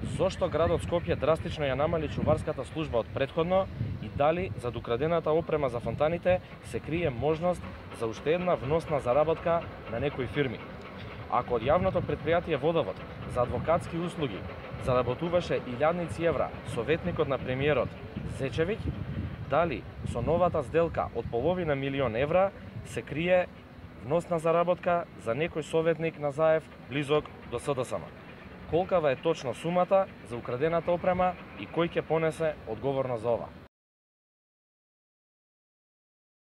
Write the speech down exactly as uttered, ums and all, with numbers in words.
Зошто градот Скопје драстично ја намали чуварската служба од претходно и дали зад украдената опрема за фонтаните се крие можност за уште една вносна заработка на некои фирми? Ако од јавното предпријатие Водовод за адвокатски услуги заработуваше илјадници евра советникот на премиерот Зечевиќ, дали со новата сделка од половина милион евра се крие вносна заработка за некој советник на Заев близок до СДСМ? Колкава е точно сумата за украдената опрема и кој ќе понесе одговорност за ова?